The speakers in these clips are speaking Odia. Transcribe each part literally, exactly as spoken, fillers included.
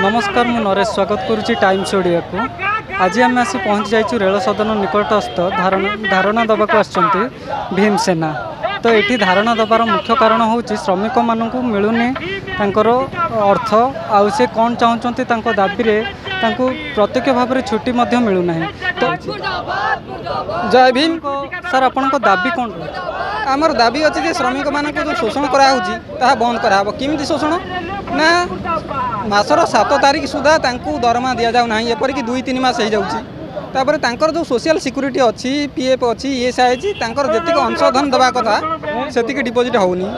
ନମସ୍କାର, ମୁଁ ନରେଶ, ସ୍ୱାଗତ କରୁଛି ଟାଇମ୍ସ ଓଡ଼ିଆକୁ। ଆଜି ଆମେ ଆସି ପହଞ୍ଚି ଯାଇଛୁ ରେଳ ସଦନ ନିକଟସ୍ଥ। ଧାରଣା ଧାରଣା ଦେବାକୁ ଆସିଛନ୍ତି ଭୀମସେନା। ତ ଏଠି ଧାରଣା ଦେବାର ମୁଖ୍ୟ କାରଣ ହେଉଛି, ଶ୍ରମିକମାନଙ୍କୁ ମିଳୁନି ତାଙ୍କର ଅର୍ଥ। ଆଉ ସେ କ'ଣ ଚାହୁଁଛନ୍ତି, ତାଙ୍କ ଦାବିରେ ତାଙ୍କୁ ପ୍ରତ୍ୟକ୍ଷ ଭାବରେ ଛୁଟି ମଧ୍ୟ ମିଳୁନାହିଁ। ତ ଜୟ ଭୀମ। ସାର୍, ଆପଣଙ୍କ ଦାବି କ'ଣ ରହୁଛି? ଆମର ଦାବି ଅଛି ଯେ ଶ୍ରମିକମାନଙ୍କୁ ଯେଉଁ ଶୋଷଣ କରାହେଉଛି, ତାହା ବନ୍ଦ କରାହେବ। କେମିତି ଶୋଷଣ ନା, ମାସର ସାତ ତାରିଖ ସୁଦ୍ଧା ତାଙ୍କୁ ଦରମା ଦିଆଯାଉ ନାହିଁ, ଏପରିକି ଦୁଇ ତିନି ମାସ ହେଇଯାଉଛି। ତାପରେ ତାଙ୍କର ଯେଉଁ ସୋସିଆଲ ସିକ୍ୟୁରିଟି ଅଛି, ପି ଏଫ୍ ଅଛି, ଇ ଏସ୍ I ଅଛି, ତାଙ୍କର ଯେତିକି ଅଂଶଧନ ଦେବା କଥା ସେତିକି ଡିପୋଜିଟ୍ ହେଉନି।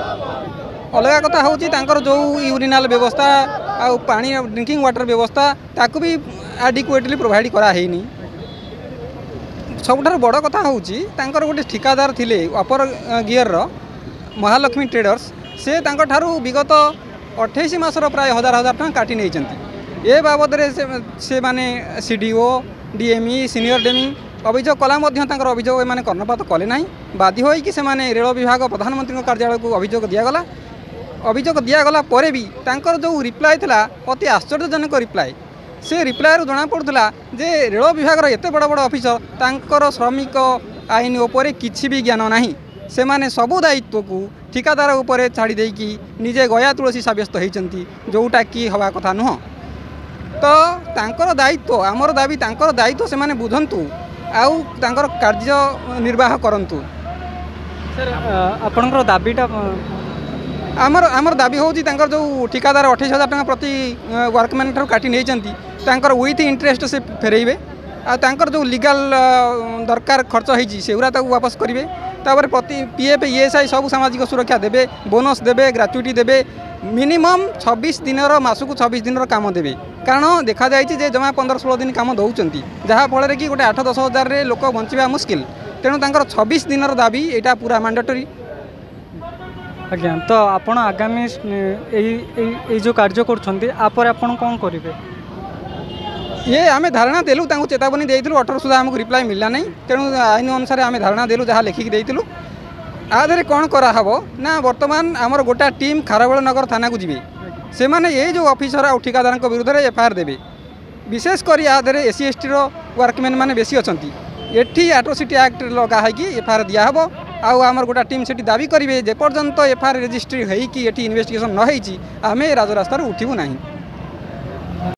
ଅଲଗା କଥା ହେଉଛି, ତାଙ୍କର ଯେଉଁ ୟୁରିନାଲ ବ୍ୟବସ୍ଥା ଆଉ ପାଣି, ଡ୍ରିଙ୍କିଂ ୱାଟର ବ୍ୟବସ୍ଥା, ତାକୁ ବି ଆଡିକୁଏଟଲି ପ୍ରୋଭାଇଡ଼ କରାହେଇନି। ସବୁଠାରୁ ବଡ଼ କଥା ହେଉଛି, ତାଙ୍କର ଗୋଟେ ଠିକାଦାର ଥିଲେ ଅପର ଗିୟରର ମହାଲକ୍ଷ୍ମୀ ଟ୍ରେଡର୍ସ, ସେ ତାଙ୍କଠାରୁ ବିଗତ ଅଠେଇଶ ମାସର ପ୍ରାୟ ହଜାର ହଜାର ଟଙ୍କା କାଟି ନେଇଛନ୍ତି। ଏ ବାବଦରେ ସେ ସେମାନେ C D O, D M E, senior D M E ଅଭିଯୋଗ କଲା ମଧ୍ୟ ତାଙ୍କର ଅଭିଯୋଗ ଏମାନେ କର୍ଣ୍ଣପାତ କଲେ ନାହିଁ। ବାଧ୍ୟ ହୋଇକି ସେମାନେ ରେଳ ବିଭାଗ, ପ୍ରଧାନମନ୍ତ୍ରୀଙ୍କ କାର୍ଯ୍ୟାଳୟକୁ ଅଭିଯୋଗ ଦିଆଗଲା। ଅଭିଯୋଗ ଦିଆଗଲା ପରେ ବି ତାଙ୍କର ଯେଉଁ ରିପ୍ଲାଏ ଥିଲା, ଅତି ଆଶ୍ଚର୍ଯ୍ୟଜନକ ରିପ୍ଲାଏ। ସେ ରିପ୍ଲାଏରୁ ଜଣାପଡ଼ୁଥିଲା ଯେ ରେଳ ବିଭାଗର ଏତେ ବଡ଼ ବଡ଼ ଅଫିସର, ତାଙ୍କର ଶ୍ରମିକ ଆଇନ ଉପରେ କିଛି ବି ଜ୍ଞାନ ନାହିଁ। ସେମାନେ ସବୁ ଦାୟିତ୍ୱକୁ ଠିକାଦାର ଉପରେ ଛାଡ଼ି ଦେଇକି ନିଜେ ଗୟା ତୁଳସୀ ସାବ୍ୟସ୍ତ ହେଇଛନ୍ତି, ଯେଉଁଟାକି ହେବା କଥା ନୁହଁ। ତ ତାଙ୍କର ଦାୟିତ୍ୱ, ଆମର ଦାବି, ତାଙ୍କର ଦାୟିତ୍ୱ ସେମାନେ ବୁଝନ୍ତୁ ଆଉ ତାଙ୍କର କାର୍ଯ୍ୟ ନିର୍ବାହ କରନ୍ତୁ। ସାର୍, ଆପଣଙ୍କର ଦାବିଟା? ଆମର ଆମର ଦାବି ହେଉଛି, ତାଙ୍କର ଯେଉଁ ଠିକାଦାର ଅଠେଇଶ ହଜାର ଟଙ୍କା ପ୍ରତି ୱାର୍କମ୍ୟାନ୍ ଠାରୁ କାଟି ନେଇଛନ୍ତି, ତାଙ୍କର ୱିଥ୍ ଇଣ୍ଟରେଷ୍ଟ ସେ ଫେରାଇବେ। ଆଉ ତାଙ୍କର ଯେଉଁ ଲିଗାଲ ଦରକାର ଖର୍ଚ୍ଚ ହେଇଛି, ସେଗୁଡ଼ା ତାକୁ ୱାପସ କରିବେ। ତାପରେ ପ୍ରତି P F, E S I, ସବୁ ସାମାଜିକ ସୁରକ୍ଷା ଦେବେ, ବୋନସ୍ ଦେବେ, ଗ୍ରାଚୁଇଟି ଦେବେ, ମିନିମମ୍ ଛବିଶ ଦିନର, ମାସକୁ ଛବିଶ ଦିନର କାମ ଦେବେ। କାରଣ ଦେଖାଯାଇଛି ଯେ ଜମା ପନ୍ଦର ଷୋହଳ ଦିନ କାମ ଦେଉଛନ୍ତି, ଯାହାଫଳରେ କି ଗୋଟେ ଆଠ ଦଶ ହଜାରରେ ଲୋକ ବଞ୍ଚିବା ମୁସ୍କିଲ। ତେଣୁ ତାଙ୍କର ଛବିଶ ଦିନର ଦାବି, ଏଇଟା ପୁରା ମାଣ୍ଡାଟୋରି। ଆଜ୍ଞା, ତ ଆପଣ ଆଗାମୀ ଏଇ ଏଇ ଏଇ ଯେଉଁ କାର୍ଯ୍ୟ କରୁଛନ୍ତି, ୟାପରେ ଆପଣ କ'ଣ କରିବେ? ଇଏ ଆମେ ଧାରଣା ଦେଲୁ, ତାଙ୍କୁ ଚେତାବନୀ ଦେଇଥିଲୁ ଅଠର ସୁଦ୍ଧା। ଆମକୁ ରିପ୍ଲାଏ ମିଳିଲା ନାହିଁ। ତେଣୁ ଆଇନ ଅନୁସାରେ ଆମେ ଧାରଣା ଦେଲୁ, ଯାହା ଲେଖିକି ଦେଇଥିଲୁ। ୟା ଦେହରେ କ'ଣ କରାହେବ ନା, ବର୍ତ୍ତମାନ ଆମର ଗୋଟା ଟିମ୍ ଖାରବେଳ ନଗର ଥାନାକୁ ଯିବେ। ସେମାନେ ଏଇ ଯେଉଁ ଅଫିସର ଆଉ ଠିକାଦାରଙ୍କ ବିରୁଦ୍ଧରେ ଏଫଆଇଆର୍ ଦେବେ। ବିଶେଷ କରି ୟା ଦେହରେ ଏସ୍ ସି, ଏସ୍ ଟିର ୱାର୍କମ୍ୟାନ୍ ମାନେ ବେଶୀ ଅଛନ୍ତି। ଏଠି ଆଟ୍ରୋସିଟି ଆକ୍ଟ ଲଗା ହେଇକି ଏଫଆଇଆର୍ ଦିଆହେବ। ଆଉ ଆମର ଗୋଟା ଟିମ୍ ସେଠି ଦାବି କରିବେ, ଯେପର୍ଯ୍ୟନ୍ତ ଏଫଆଇଆର୍ ରେଜିଷ୍ଟ୍ରି ହେଇକି ଏଠି ଇନଭେଷ୍ଟିଗେସନ୍ ନ ହେଇଛି, ଆମେ ରାଜରାସ୍ତାରୁ ଉଠିବୁ ନାହିଁ।